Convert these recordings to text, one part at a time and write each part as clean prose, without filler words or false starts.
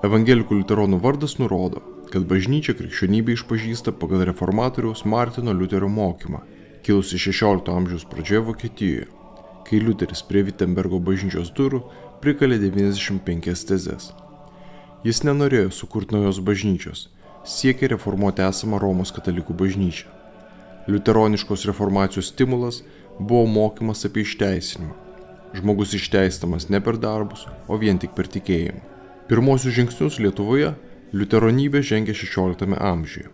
Evangelikų liuteronų vardas nurodo, kad bažnyčia krikščionybę išpažįsta pagal reformatoriaus Martino Liuterio mokymą, kilusi 16 amžiaus pradžioje Vokietijoje, kai Liuteris prie Vitembergo bažnyčios durų prikalė 95 tezes. Jis nenorėjo sukurti naujos bažnyčios, siekė reformuoti esamą Romos katalikų bažnyčią. Liuteroniškos reformacijos stimulas buvo mokymas apie išteisinimą. Žmogus išteistamas ne per darbus, o vien tik per tikėjimą. Pirmosius žingsnius Lietuvoje liuteronybė žengė 16 amžiuje.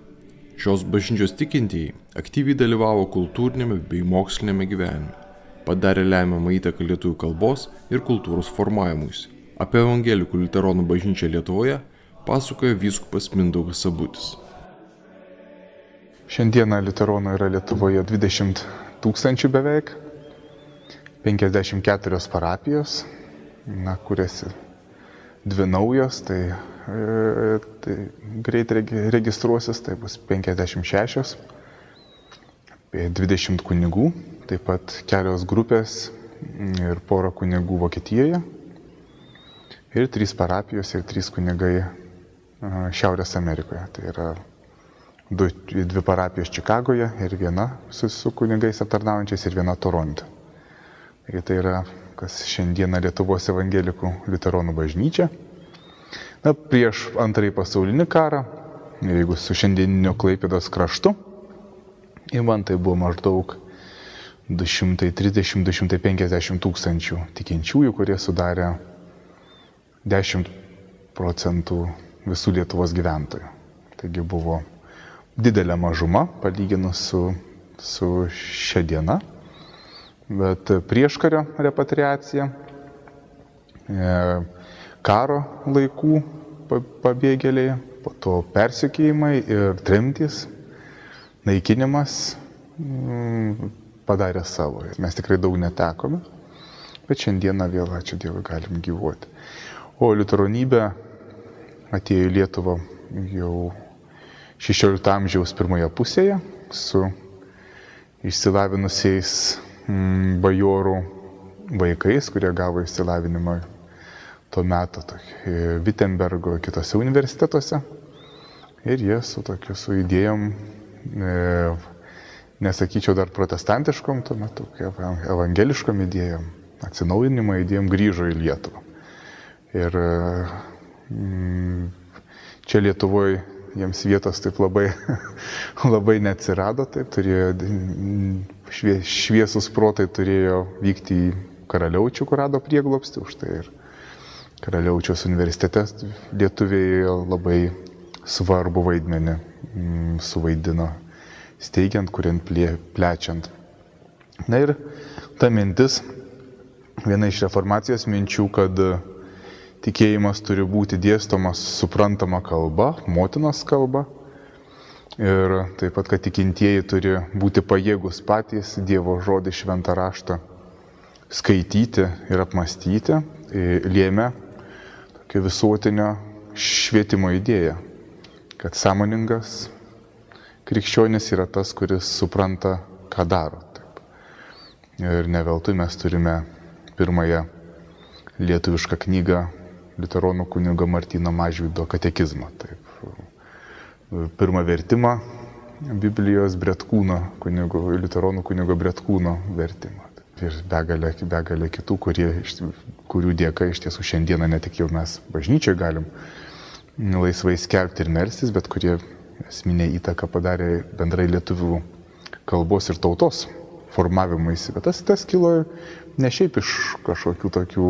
Šios bažnyčios tikintieji aktyviai dalyvavo kultūrinėme bei mokslinėme gyvenime, padarė lemiamą įtaką lietuvių kalbos ir kultūros formavimuisi. Apie evangelikų liuteronų bažnyčią Lietuvoje pasakoja vyskupas Mindaugas Sabutis. Šiandieną liuteronų yra Lietuvoje 20 000 beveik, 54 parapijos, kuriasi 2 naujos, tai greit registruosis, tai bus 56, apie 20 kunigų, taip pat kelios grupės ir pora kunigų Vokietijoje, ir 3 parapijos ir 3 kunigai Šiaurės Amerikoje. Tai yra 2 parapijos Čikagoje ir viena su kunigais aptarnaujančiais ir viena Toronte. Tai yra kas šiandieną Lietuvos evangelikų liuteronų bažnyčia. Prieš Antrąjį pasaulinį karą, jeigu su šiandieniniu Klaipėdos kraštu, man tai buvo maždaug 230–250 tūkstančių tikinčiųjų, kurie sudarė 10% visų Lietuvos gyventojų. Taigi buvo didelė mažuma palyginus su šia diena. Bet prieškario repatriacija, karo laikų pabėgėliai, po to persekiojimai ir tremtys, naikinimas padarė savo. Mes tikrai daug netekome, bet šiandieną vėl, ačiū Dievui, galim gyvuoti. O liuteronybė atėjo į Lietuvą jau 16 amžiaus pirmoje pusėje su išsilavinusiais bajorų vaikais, kurie gavo išsilavinimą tuo metu Vitembergo kitose universitetuose. Ir jie su idėjom, nesakyčiau dar protestantiškom, tuo metu evangeliškom idėjom, atsinaujinimo idėjom grįžo į Lietuvą. Ir čia Lietuvoje jiems vietos taip labai neatsirado, taip turėjo šviesus protai turėjo vykti į Karaliaučių, kur rado prieglobstį, už tai ir Karaliaučiaus universitete lietuviai labai svarbu vaidmenį suvaidino, steigiant, kuriant, plečiant. Na ir ta mintis, viena iš reformacijos minčių, kad tikėjimas turi būti dėstomas suprantama kalba, motinos kalba. Ir taip pat, kad tikintieji turi būti pajėgus patys Dievo žodį šventą raštą skaityti ir apmąstyti, lėmė tokia visuotinio švietimo idėja, kad sąmoningas krikščionis yra tas, kuris supranta, ką daro. Taip. Ir ne veltui mes turime pirmąją lietuvišką knygą liuteronų kunigo Martyno Mažvydo katekizmą. Taip. Pirmą vertimą Biblijos Bretkūno liuteronų kunigo Bretkūno vertimą. Ir begalė kitų, kurių dėka iš tiesų šiandieną ne tik jau mes bažnyčioje galim laisvai skelbti ir melstis, bet kurie esminę įtaką padarė bendrai lietuvių kalbos ir tautos formavimuisi. Bet tas kilo ne šiaip iš kažkokių tokių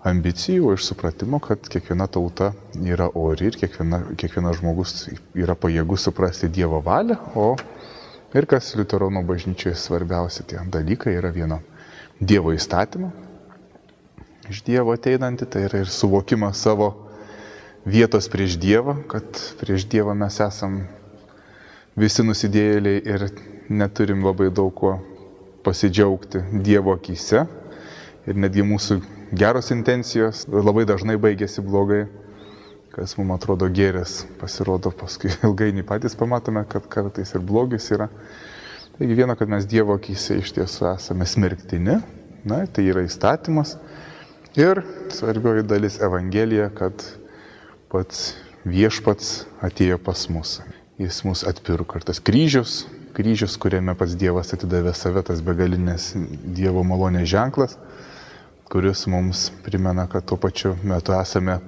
ambicijų, o iš supratimo, kad kiekviena tauta yra ori ir kiekvienas žmogus yra pajėgus suprasti Dievo valią, ir kas liuteronų bažnyčioje svarbiausia tie dalykai yra vieno Dievo įstatymą, iš Dievo ateinantį, tai yra ir suvokimas savo vietos prieš Dievą, kad prieš Dievą mes esam visi nusidėjėliai ir neturim labai daug kuo pasidžiaugti Dievo akyse ir netgi mūsų geros intencijos labai dažnai baigėsi blogai, kas mums atrodo gėris, pasirodo paskui ilgainiui patys pamatome, kad kartais ir blogis yra. Taigi viena, kad mes Dievo akyse iš tiesų esame smerktini, tai yra įstatymas. Ir svarbioji dalis Evangelija, kad pats viešpats atėjo pas mus. Jis mus atpirko. Ir tas kryžius, kuriame pats Dievas atidavė save, tas begalinės Dievo malonės ženklas, kuris mums primena, kad tuo pačiu metu esame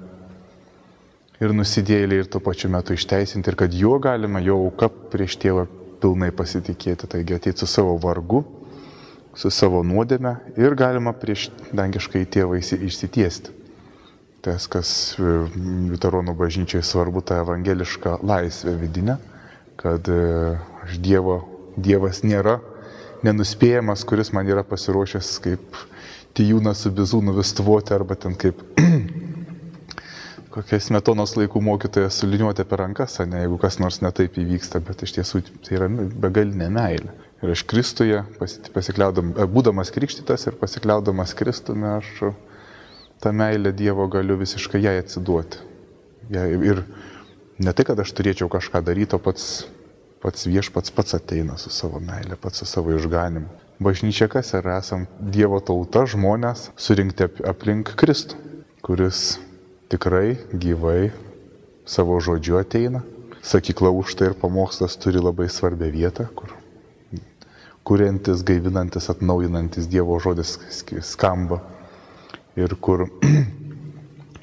ir nusidėjėliai, ir tuo pačiu metu išteisinti, ir kad juo galima, jo auka prieš Tėvą pilnai pasitikėti. Taigi ateiti su savo vargu, su savo nuodėme ir galima prieš dangiškai Tėvą išsitiesti. Tas, kas liuteronų bažnyčiai svarbu, ta evangeliška laisvė vidinė, kad Dievas nėra nenuspėjamas, kuris man yra pasiruošęs kaip tijūnas su bizūnu vistvoti, arba ten kaip kokia Smetonos laikų mokytoja suliniuoti per rankas, jeigu kas nors netaip įvyksta, bet iš tiesų tai yra begalinė meilė. Ir aš Kristuje, būdamas krikštytas ir pasikliaudamas Kristumi, aš tą meilę Dievo galiu visiškai jai atsiduoti. Ir ne tai, kad aš turėčiau kažką daryti, o pats viešpats pats ateina su savo meilė, pats su savo išganimu. Bažnyčia kas yra? Esam Dievo tauta, žmonės surinkti aplink Kristų, kuris tikrai gyvai savo žodžiu ateina. Sakykla Užtai ir pamokslas turi labai svarbią vietą, kur kuriantis, gaivinantis, atnaujinantis Dievo žodis skamba ir kur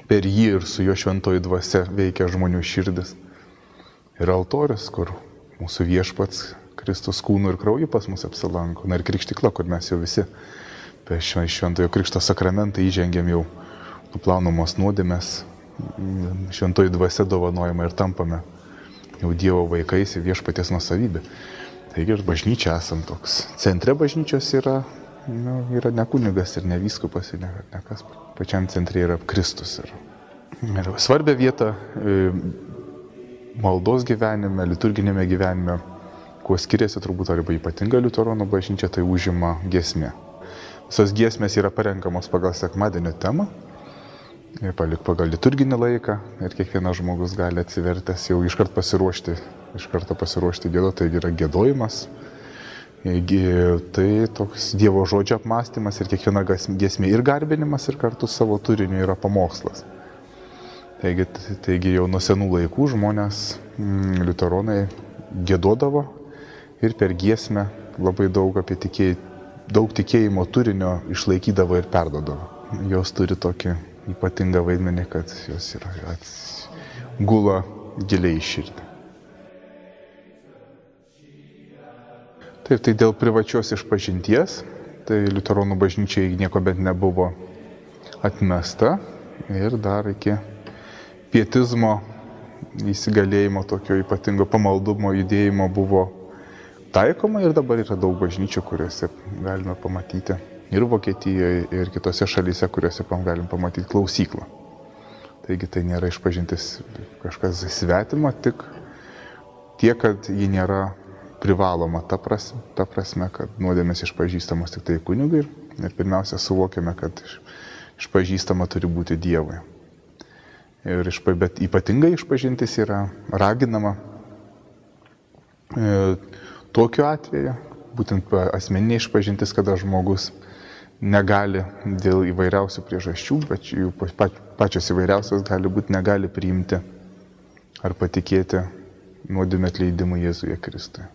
per jį ir su jo šventoji dvasia veikia žmonių širdis. Ir altorius, kur mūsų viešpats Kristus kūnu ir krauju pas mus apsilanko. Ir krikštykla, kur mes jau visi per šventojo krikšto sakramentą įžengėm jau nuplaunamos nuodėmės, šventoji dvasia dovanojama ir tampame jau Dievo vaikais ir viešpaties nuosavybė. Taigi ir bažnyčia esam toks. Centre bažnyčios yra ne kunigas ir ne vyskupas, ir ne kas. Pačiam centre yra Kristus. Ir svarbia vieta maldos gyvenime, liturginėme gyvenime, kuo skiriasi turbūt arba ypatinga liuteronų bažnyčia, tai užima giesmė. Visos giesmės yra parenkamos pagal sekmadienio temą, pagal liturginį laiką ir kiekvienas žmogus gali atsivertęs jau iš karto pasiruošti giedoti, tai yra giedojimas. Tai toks Dievo žodžio apmąstymas ir kiekviena giesmė ir garbinimas ir kartu savo turiniu yra pamokslas. Taigi jau nuo senų laikų žmonės, liuteronai, giedodavo ir per giesmę labai daug tikėjimo turinio išlaikydavo ir perdodavo. Jos turi tokį ypatingą vaidmenį, kad jos gula giliai į širdį. Taip, tai dėl privačios išpažinties, tai liuteronų bažnyčiai nieko bent nebuvo atmesta ir dar iki pietizmo įsigalėjimo, tokio ypatingo pamaldumo judėjimo buvo taikoma ir dabar yra daug bažnyčių, kuriuose galime pamatyti ir Vokietijoje, ir kitose šalyse, kuriuose galim pamatyti klausyklą. Taigi tai nėra išpažintis kažkas svetima, tik tiek, kad ji nėra privaloma ta prasme, kad nuodėmės išpažįstamos tik tai kunigui ir pirmiausia suvokiame, kad išpažįstama turi būti Dievui. Bet ypatingai išpažintis yra raginama tokiu atveju, būtent asmeninė išpažintis, kada žmogus negali dėl įvairiausių priežasčių, bet jų pačios įvairiausios gali būti, negali priimti ar patikėti nuodėmės atleidimu Jėzuje Kristuje.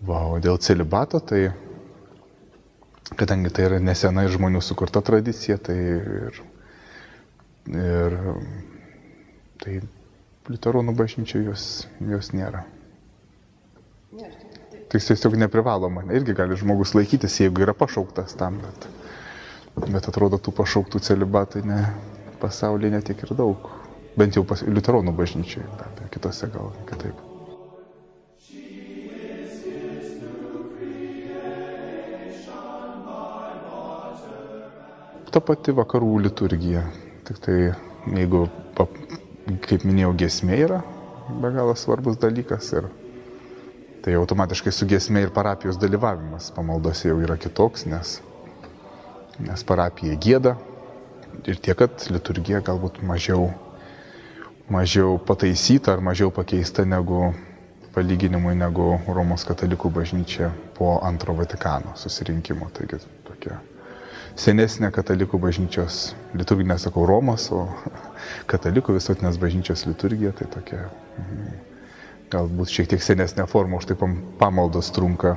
O dėl celibato, tai kadangi tai yra nesenai žmonių sukurta tradicija, tai liuteronų bažnyčioje jos nėra. Tai tiesiog neprivaloma. Irgi gali žmogus laikytis, jeigu yra pašauktas tam, bet atrodo tų pašauktų celibatai pasaulyje netiek ir daug. Bent jau liuteronų bažnyčioje, bet kitose gal kitaip. Ta pati vakarų liturgija. Tik tai, jeigu, kaip minėjau, giesmė yra be galo svarbus dalykas ir tai automatiškai su giesme ir parapijos dalyvavimas pamaldose jau yra kitoks, nes parapija gieda ir tiek, kad liturgija galbūt mažiau pataisyta ar mažiau pakeista negu palyginimui negu Romos katalikų bažnyčia po antro Vatikano susirinkimo. Taigi tokia senesnė katalikų bažnyčios liturginė, sakau, Romos, o katalikų visuotinės bažnyčios liturgija tai tokia galbūt šiek tiek senesnė forma, už tai pamaldos trunka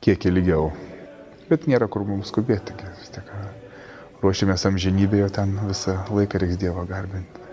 kiek ilgiau. Bet nėra kur mums skubėti, vis tiek ruošiamės amžinybėje, ten visą laiką reiks Dievą garbinti.